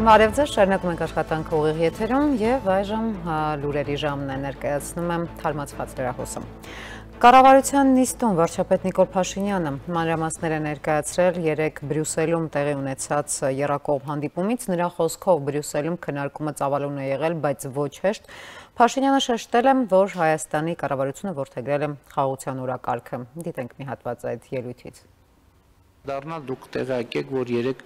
Բարև ձեզ, շարունակում ենք աշխատանքը ուղիղ եթերում եւ այժմ լուրերի ժամն է, ներկայացնում եմ թարմացված լրահոսը։ Կառավարության նիստում վարչապետ Նիկոլ Փաշինյանը մանրամասներ է ներկայացրել երեկ Բրյուսելում տեղի ունեցած եռակողմ հանդիպումից, նրա խոսքով Բրյուսելում քննարկումը ծավալուն է եղել, բայց ոչ հեշտ։ Փաշինյանը շեշտել է, որ Հայաստանի կառավարությունը որդեգրել է խաղաղության օրակարգը։ Դիտենք մի հատված այդ ելույթից։ Դառնալ դուք տեղյակ եք, որ երեք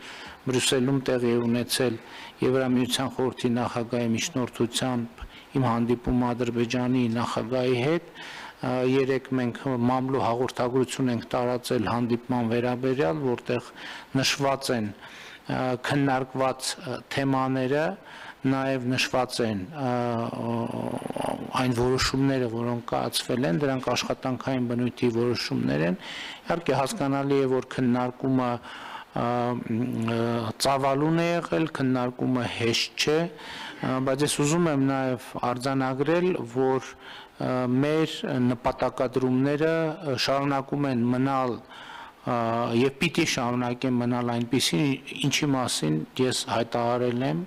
Բրյուսելում տեղի ունեցել Եվրամիության խորհրդի նախագահի միջնորդությամբ իմ հանդիպումը Ադրբեջանի նախագահի հետ, երեք մենք մամլու հաղորդագրություն ենք տարածել հանդիպման վերաբերյալ, որտեղ նշված են քննարկված թեմաները, նաև նշված են այն որոշումները, որոնք կայացվել են, դրանք աշխատանքային բնույթի որոշումներ են, իհարկե հասկանալի է, որ քննարկումը ծավալուն է եղել, քննարկումը հեշտ չէ, բայց ես ուզում եմ նաև արձանագրել, որ մեր նպատակադրումները շարունակում են մնալ եւ պիտի շարունակեն մնալ այնպիսին, ինչի մասին ես հայտարարել եմ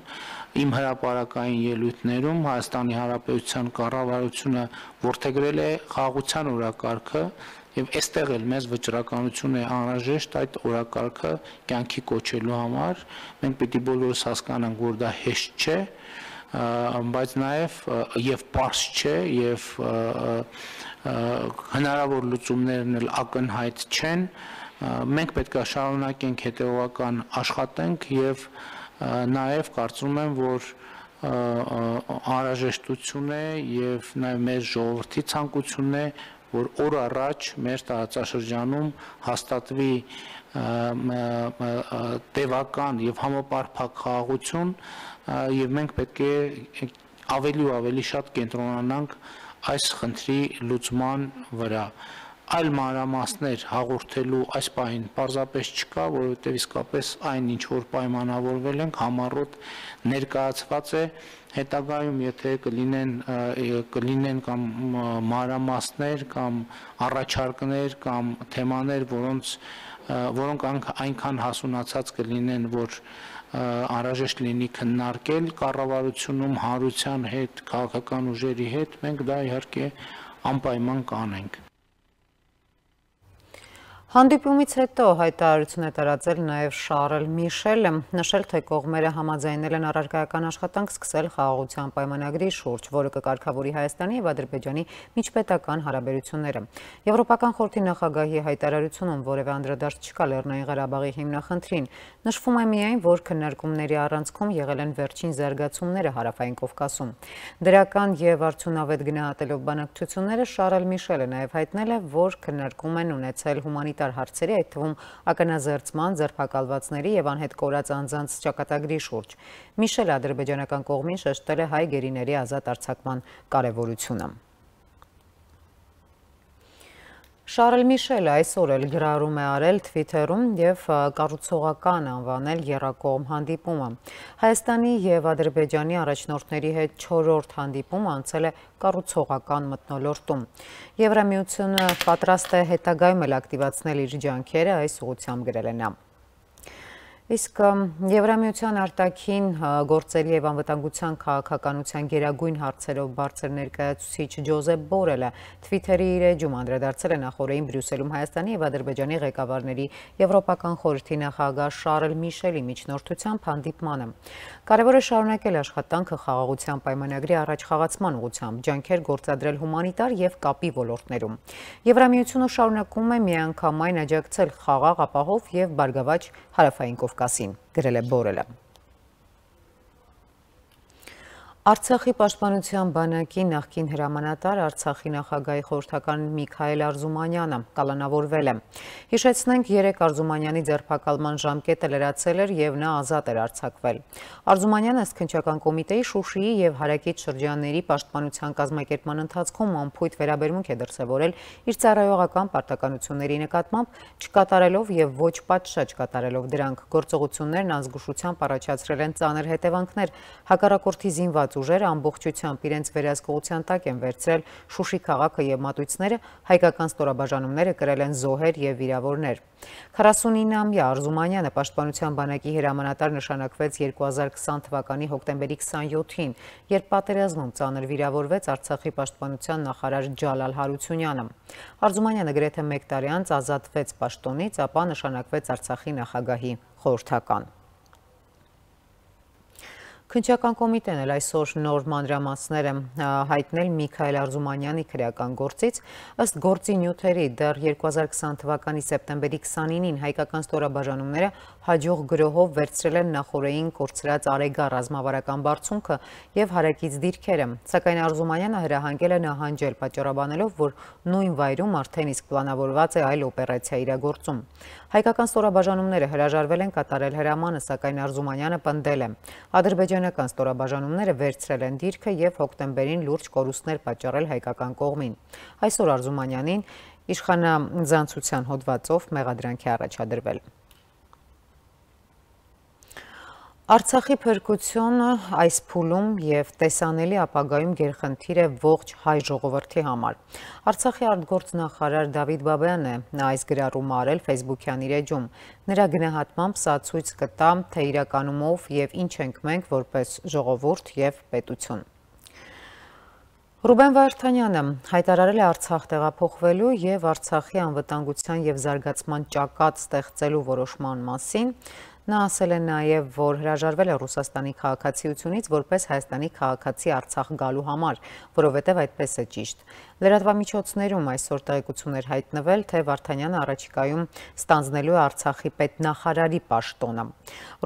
իմ հրապարակային ելույթներում, Հայաստանի Հանրապետության կառավարությունը որդեգրել է խաղաղության օրակարգը եւ այստեղ էլ մեզ վճռականություն է անհրաժեշտ այդ օրակարգը կյանքի կոչելու համար, մենք պիտի բոլորս հասկանանք, որ դա հեշտ չէ, բայց նաև եւ պարզ չէ եւ հնարավոր լուծումներն էլ ակնհայտ չեն, մենք պետք է շարունակենք հետեւական աշխատենք եւ նաև կարծում եմ, որ անհրաժեշտություն է եւ նաև մեր ժողովրդի ցանկությունն է, որ օր առաջ մեր տարածաշրջանում հաստատվի տևական եւ համապարփակ խաղաղություն եւ մենք պետք է ավելի ու ավելի շատ կենտրոնանանք այս խնդրի լուծման վրա։ Այլ մանրամասներ հաղորդելու այս պահին պարզապես չկա, որովհետև իսկապես այն, ինչ որ պայմանավորվել ենք, համառոտ ներկայացված է, հետագայում, եթե կլինեն կամ մանրամասներ կամ առաջարկներ կամ թեմաներ, որոնք այնքան հասունացած կլինեն, որ անհրաժեշտ լինի քննարկել կառավարությունում հանրության հետ, քաղաքական ուժերի հետ, մենք դա իհարկե անպայման կանենք։ Հանդիպումից հետո հայտարարություն է տարածել նաև Շարլ Միշելը, նշել, թե կողմերը համաձայնել են առարկայական աշխատանք սկսել խաղաղության պայմանագրի շուրջ, որը կկարգավորի Հայաստանի եւ Ադրբեջանի միջպետական հարաբերությունները։ Եվրոպական խորհրդի նախագահի հայտարարությունում որևէ անդրադարձ չկա Լեռնային Ղարաբաղի հիմնախնդրին, նշվում է միայն, որ քննարկումների առանցքում եղել են վերջին զարգացումները Հարավային Կովկասում։ Դրական եւ արդյունավետ գնահատելով բանակցությունները Շարլ Միշելը նաև հայտնել է, որ քննարկում են ունեցել հումանիտար հարցերի, այդ թվում ականազերծման, ձերբակալվածների եւ անհետ կորած անձանց ճակատագրի շուրջ։ Միշելը ադրբեջանական կողմին շեշտել է հայ գերիների ազատ արձակման կարևորությունը։ Շարլ Միշելը այսօր էլ գրառում է արել Twitter-ում եւ կառուցողական անվանել եռակողմ հանդիպումը։ Հայաստանի եւ Ադրբեջանի առաջնորդների հետ 4-րդ հանդիպումը անցել է կառուցողական մթնոլորտում։ Եվրամիությունը պատրաստ է հետագայում էլ ակտիվացնել իր ջանքերը, այս ուղղությամբ գրել է նա։ Իսկ Եվրամիության արտաքին գործերի եւ անվտանգության քաղաքականության գերագույն հարցերով բարձր ներկայացուցիչ Ջոզեփ Բորելը Twitter-ի իր էջում անդրադարձել է նախորդին Բրյուսելում Հայաստանի եւ Ադրբեջանի ղեկավարների Եվրոպական խորհրդի նախագահ Շարլ Միշելի միջնորդությամբ հանդիպմանը։ Կարևոր է շարունակել աշխատանքը խաղաղության պայմանագրի առաջխաղացման ուղղությամբ, ջանքեր գործադրել հումանիտար եւ կապի ոլորտներում։ Եվրամիությունը շարունակում է միանգամայն աջակցել խաղաղ, ապահով եւ բարգավաճ Հարավային Կովկասին, գրել է Բորելը։ Արցախի պաշտպանության բանակի նախկին հրամանատար Արցախի նախագահի խորհրդական Միքայել Արզումանյանը կալանավորվել է։ Հիշեցնենք, երեկ Արզումանյանի ձերբակալման ժամկետը լրացել էր եւ նա ազատ էր արձակվել։ Արզումանյանը Սքնչական կոմիտեի Շուշիի եւ Հարակից շրջանների պաշտպանության կազմակերպման ընթացքում անփույթ վերաբերմունք է դրսևորել իր ծառայողական պարտականությունների նկատմամբ, չկատարելով եւ ոչ պատշաճ կատարելով դրանք։ Գործողություններն ազգուշությամբ առաջացրել են ծանր հետևանքներ հակառակորդի զինված զինված ուժերը ամբողջությամբ իրենց վերահսկողության տակ են վերցրել Շուշի քաղաքը եւ մատույցները, հայկական ստորաբաժանումները կրել են զոհեր եւ վիրավորներ։ 49-ամյա Արզումանյանը Պաշտպանության բանակի հրամանատար նշանակվեց 2020 թվականի հոկտեմբերի 27-ին, երբ պատերազմում ծանր վիրավորվեց Արցախի պաշտպանության նախարար Ջալալ Հարությունյանը։ Արզումանյանը գրեթե 1 տարի անց ազատվեց պաշտոնից, ապա նշանակվեց Արցախի նախագահի խորհրդական։ Քննչական կոմիտեն էլ այսօր նոր մանրամասներ է հայտնել Միքայել Արզումանյանի քրեական գործից, ըստ գործի նյութերի դեռ 2020 թվականի սեպտեմբերի 29-ին հայկական ստորաբաժանումները հաջող գրոհով վերցրել են նախօրեին կորցրած Արեգա ռազմավարական բարձունքը եւ հարակից դիրքերը, սակայն Արզումանյանը հրահանգել է նահանջել, պատճառաբանելով, որ նույն վայրում արդեն իսկ պլանավորված է այլ օպերացիա իրագործում։ Հայկական ստորաբաժանումները հրաժարվել են կատարել հրամանը, սակայն Արզումանյանը պնդել է։ Ադրբեջանական ստորաբաժանումները վերցրել են դիրքը եւ հոկտեմբերին լուրջ կորուստներ պատճառել հայկական կողմին։ Այսօր Արզումանյանին իշխանաձանցության հոդվածով մեղադրանք է առաջադրվել։ Արցախի փրկությունը այս փուլում եւ տեսանելի ապագայում գերխնդիր է ողջ հայ ժողովրդի համար։ Արցախի արտգործնախարար Դավիթ Բաբյանն է այս գրառումը արել Facebook-յան իր էջում։ Նրա գնահատմամբ սա ցույց կտա, թե իրականումով եւ ինչ ենք մենք որպես ժողովուրդ եւ պետություն։ Ռուբեն Վարդանյանը հայտարարել է Արցախ տեղափոխվելու եւ Արցախի անվտանգության եւ զարգացման ճակատ ստեղծելու որոշման մասին։ Նա ասել է նաև, որ հրաժարվել է Ռուսաստանի քաղաքացիությունից որպես Հայաստանի քաղաքացի Արցախ գալու համար, որովհետև այդպես է ճիշտ։ Լրատվամիջոցներում այսօր տեղեկություններ հայտնվել, թե Վարդանյանը առաջիկայում ստանձնելու է Արցախի պետնախարարի պաշտոնը։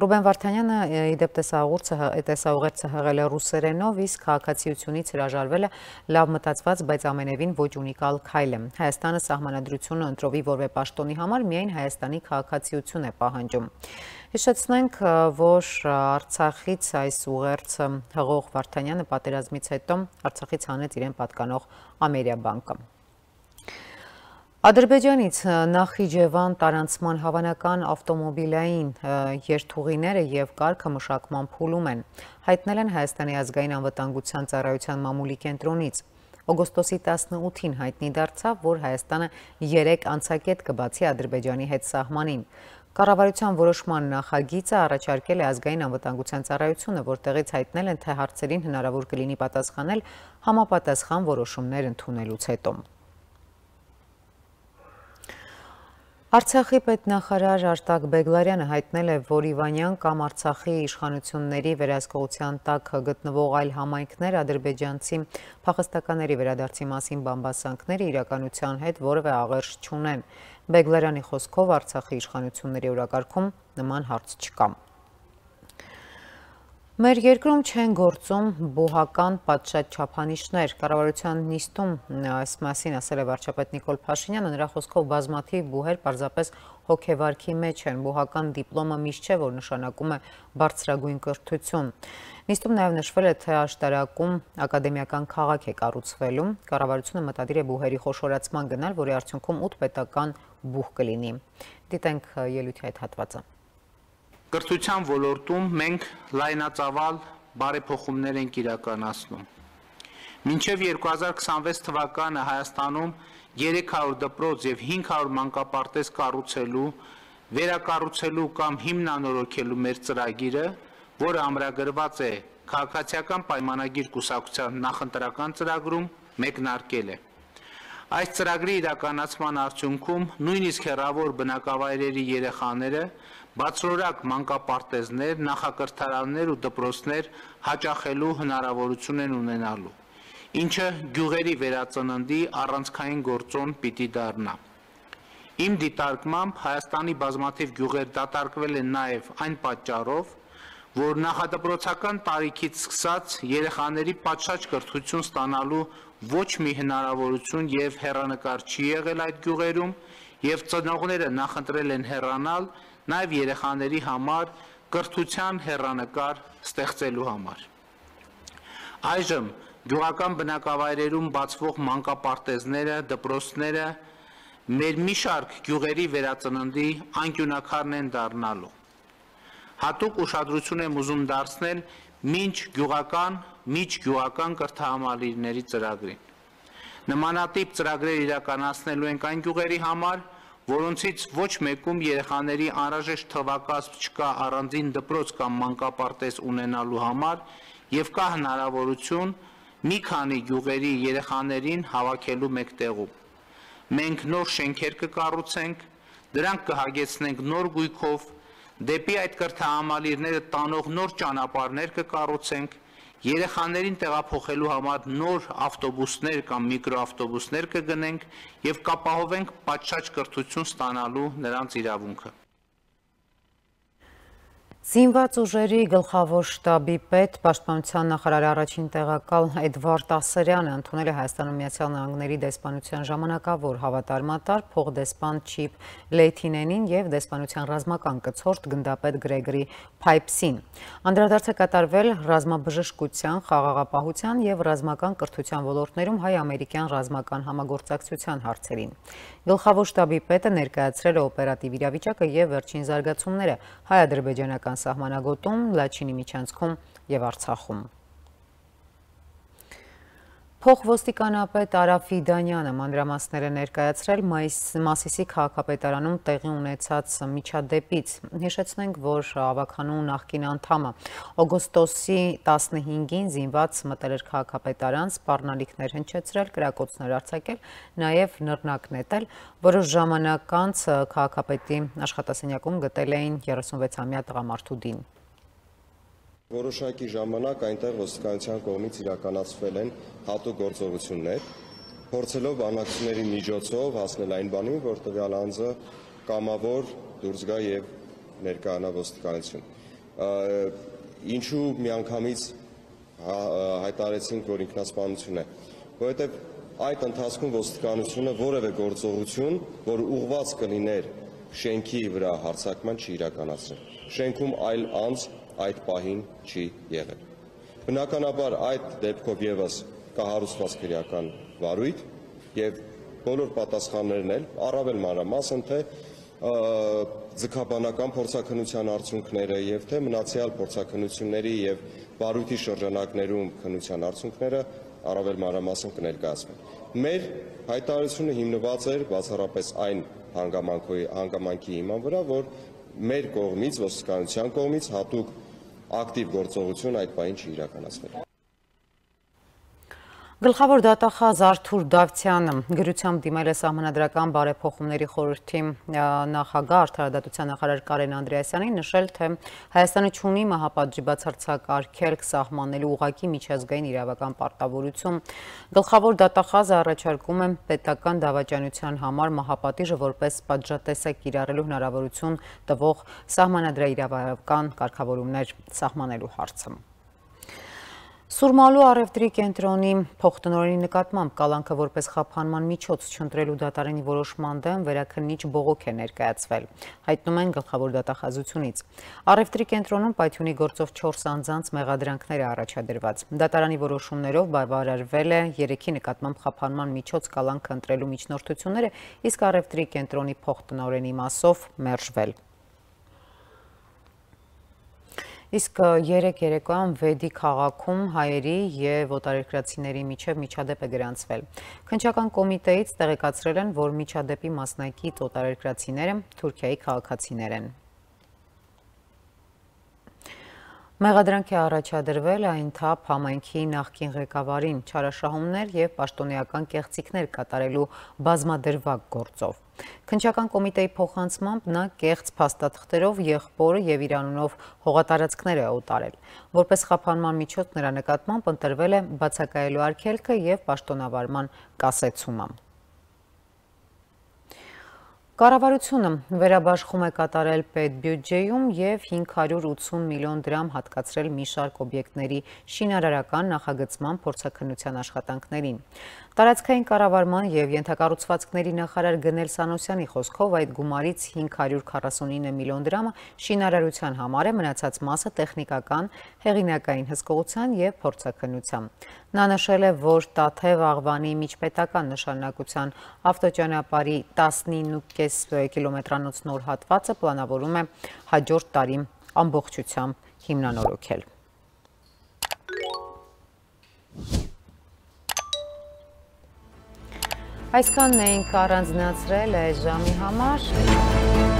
Ռուբեն Վարդանյանը իդեպ տեսաուղերձը հղել է ռուսերենով, իսկ քաղաքացիությունից հրաժարվելը լավ մտածված, բայց ամենևին ոչ ունիկալ քայլ է։ Հայաստանը սահմանադրությունը ընտրովի որևէ պաշտոնի համար միայն Հայաստանի քաղաքացիություն է պահանջում։ Հիշեցնենք, որ Արցախից այս ուղերձը հղող Վարդանյանը պատերազմից հետո Արցախից հանեց իրեն պատկանող ամերիաբանկը։ Ադրբեջանից Նախիջևան տարանցման հավանական ավտոմոբիլային երթուղիները եւ կարգը մշակման փուլում են, հայտնել են Հայաստանի ազգային անվտանգության ծառայության մամուլի կենտրոնից։ Օգոստոսի 18-ին հայտնի դարձավ, որ Հայաստանը 3 անցակետ կբացի Ադրբեջանի հետ սահմանին։ Կառավարության որոշման նախագիծը առաջարկել է ազգային անվտանգության ծառայությունը, որտեղից հայտնել են, թե հարցերին հնարավոր կլինի պատասխանել համապատասխան որոշումներ ընդունելուց հետո։ Արցախի պետնախարար Արտակ Բեգլարյանը հայտնել է, որ Իվանյան կամ Արցախի իշխանությունների վերահսկողության տակ գտնվող այլ համայնքներ ադրբեջանցի փախստականների վերադարձի մասին բամբասանքները իրականության հետ որևէ աղերս չունեն։ Բեգլարյանի խոսքով Արցախի իշխանությունների օրակարգում նման հարց չկա։ Մեր երկրում չեն գործում բուհական պատշաճ չափանիշներ։ Կառավարության նիստում այս մասին ասել է վարչապետ Նիկոլ Փաշինյանը, նրա խոսքով բազմաթիվ բուհեր պարզապես հոգեվարքի մեջ են։ Բուհական դիպլոմը միշտ չէ, որ նշանակում է բարձրագույն կրթություն։ Նիստում նաև նշվել է, թե աշտարակում ակադեմիական քաղաք է կառուցվելու։ Կառավարությունը մտադիր է բուհերի խոշորացման գնալ, որի արդյունքում 8 պետական բուհ կլինի։ Դիտենք ելույթի այդ հատվածը։ Կրթության ոլորտում մենք լայնածավալ բարեփոխումներ ենք իրականացնում։ Մինչև 2026 թվականը Հայաստանում 300 դպրոց եւ 500 մանկապարտեզ կառուցելու, վերակառուցելու կամ հիմնանորոգելու մեր ծրագիրը, որը ամրագրված է քաղաքացիական պայմանագիր կուսակցության նախընտրական ծրագրում, մեկնարկել է։ Այս ծրագրի իրականացման արդյունքում նույնիսկ հեռավոր բնակավայրերի երեխաները բացօրակ մանկապարտեզներ, նախակրթարաններ ու դպրոցներ հաճախելու հնարավորություն են ունենալու, ինչը գյուղերի վերածննդի առանցքային գործոն պիտի դառնա։ Իմ դիտարկմամբ Հայաստանի բազմաթիվ գյուղեր դատարկվել են նաև այն պատճառով, որ նախադպրոցական տարիքից սկսած երեխաների պատշաճ կրթություն ստանալու ոչ մի հնարավորություն եւ հեռանկար չի եղել այդ գյուղերում, եւ ծնողները նախընտրել են հեռանալ նաև երեխաների համար կրթության հեռանկար ստեղծելու համար։ Այժմ գյուղական բնակավայրերում բացվող մանկապարտեզները, դպրոցները մեր մի շարք գյուղերի վերածննդի անկյունակարն են դառնալու։ Հատուկ ուշադրություն եմ ուզում դարձնել միջգյուղական կրթահամալիրների ծրագրին։ Նմանատիպ ծրագրեր իրականացնելու ենք այն գյուղերի համար, որոնցից ոչ մեկում երեխաների անհրաժեշտ թվակազմ չկա առանձին դպրոց կամ մանկապարտեզ ունենալու համար եւ կա հնարավորություն մի քանի գյուղերի երեխաներին հավաքելու մեկ տեղում։ Մենք նոր շենքեր կկառուցենք, դրանք կհագեցնենք նոր գույքով, դեպի այդ կրթահամալիրները տանող նոր ճանապարհներ կկառուցենք, երեխաներին տեղափոխելու համար նոր ավտոբուսներ կամ միկրոավտոբուսներ կգնենք եւ կապահովենք պատշաճ կրթություն ստանալու նրանց իրավունքը։ Զինված ուժերի գլխավոր շտաբի պետ, Պաշտպանության նախարարի առաջին տեղակալ Էդվարդ Ասրյանը ընդունել է Հայաստանում Միացյալ Նահանգների դեսպանության ժամանակավոր հավատարմատար փոխդեսպան Չիփ Լեյթինենին եւ դեսպանության ռազմական կցորդ գնդապետ Գրեգորի Փայփսին։ Անդրադարձ է կատարվել ռազմաբժշկության, խաղաղապահության եւ ռազմական կրթության ոլորտներում հայ-ամերիկյան ռազմական համագործակցության հարցերին։ Գլխավոր շտաբի պետը ներկայացրել է օպերատիվ իրավիճակը եւ վերջին զարգացումները հայ-ադրբեջանական սահմանագոտում, Լաչինի միջանցքում եւ Արցախում։ Փոխոստիկանապետ Արա Ֆիդանյանը մանրամասներ է ներկայացրել Մասիսի քաղաքապետարանում տեղի ունեցած միջադեպից։ Հիշեցնենք, որ ավականու նախկին անդամը օգոստոսի 15-ին զինված մտել էր քաղաքապետարան, սպառնալիքներ հնչեցրել, կրակոցներ արձակել, նաև նռնակ նետել, որոշ ժամանակ անց քաղաքապետի աշխատասենյակում գտել էին 36-ամյա տղամարդու դին։ Որոշակի ժամանակ այնտեղ ոստիկանության կողմից իրականացվել են հատուկ գործողություններ, փորձելով բանակցությունների միջոցով հասնել այն բանին, որ տվյալ անձը կամավոր դուրս գա եւ ներկայանա ոստիկանություն։ Ինչու միանգամից հայտարարեցինք, որ ինքնասպանություն է, որովհետեւ այդ ընթացքում ոստիկանությունը որևէ գործողություն, որ ուղղված կլիներ շենքի վրա հարձակման չի իրականացրել։ Շենքում այլ անձ այդ պահին չի եղել։ Բնականաբար այդ դեպքով եւս կա հարուցված քրեական վարույթ եւ բոլոր պատասխաններն էլ առավել մանրամասն թե ձգաբանական փորձաքննության արդյունքները եւ թե մնացյալ փորձաքննությունների եւ վարույթի շրջանակներում քննության արդյունքները առավել մանրամասն կներկայացվեն։ Մեր հայտարարությունը հիմնված էր բացառապես այն հանգամանքի հիման վրա, որ մեր կողմից, ոստիկանության կողմից հատուկ ակտիվ գործողություն այդ պահին չի իրականացվել։ Գլխավոր դատախազ Արթուր Դավթյանը գրությամբ դիմել է Սահմանադրական բարեփոխումների խորհրդի նախագահ, արդարադատության նախարար Կարեն Անդրեասյանին, նշել, թե Հայաստանը չունի մահապատժի բացարձակ արգելք սահմանելու ուղղակի միջազգային իրավական պարտավորություն։ Գլխավոր դատախազը առաջարկում է պետական դավաճանության համար մահապատիժը որպես պատժատեսակ կիրառելու հնարավորություն տվող սահմանադրաիրավական կարգավորումներ սահմանելու հարցը։ Սուրմալու առևտրի կենտրոնի փոխտնօրենի նկատմամբ կալանքը որպես խափանման միջոց չընտրելու դատարանի որոշման դեմ վերաքննիչ բողոք է ներկայացվել, հայտնում են գլխավոր դատախազությունից։ Առևտրի կենտրոնում պայթյունի գործով 4 անձանց մեղադրանքներ է առաջադրված։ Դատարանի որոշումներով բավարարվել է 3-ի նկատմամբ խափանման միջոց կալանքը ընտրելու միջնորդությունները, իսկ առևտրի կենտրոնի փոխտնօրենի մասով մերժվել։ Իսկ երեկ երեկոյան Վեդի քաղաքում հայերի եւ օտարերկրացիների միջև միջադեպ է գրանցվել։ Քննչական կոմիտեից տեղեկացրել են, որ միջադեպի մասնակից օտարերկրացիները Թուրքիայի քաղաքացիներ են։ Մեղադրանք է առաջադրվել այն թափ համայնքի նախկին ղեկավարին չարաշահումներ եւ պաշտոնեական կեղծիքներ կատարելու բազմադրվակ գործով։ Քննչական կոմիտեի փոխանցմամբ նա կեղծ փաստաթղթերով եղբորը եւ իր անունով հողատարածքներ է օտարել։ Որպես խափանման միջոց նրա նկատմամբ ընտրվել է բացակայելու արգելքը եւ պաշտոնավարման կասեցումը։ Կառավարությունը վերաբաշխում է կատարել պետբյուջեում եւ 580 միլիոն դրամ հատկացրել մի շարք օբյեկտների շինարարական նախագծման փորձաքննության աշխատանքներին։ Տարածքային կառավարման եւ ենթակառուցվածքների նախարար Գնել Սանոսյանի խոսքով այդ գումարից 549 միլիոն դրամը շինարարության համար է, մնացած մասը տեխնիկական, հեղինակային հսկողության եւ փորձաքննության։ Նա նշել է, որ Տաթև Աղվանի միջպետական նշանակության ավտոճանապարհի 19.5 կիլոմետրանոց նոր հատվածը պլանավորում է հաջորդ տարի ամբողջությամբ հիմնանորոգել։ Այսքանն էինք առանձնացրել այս ժամի համար։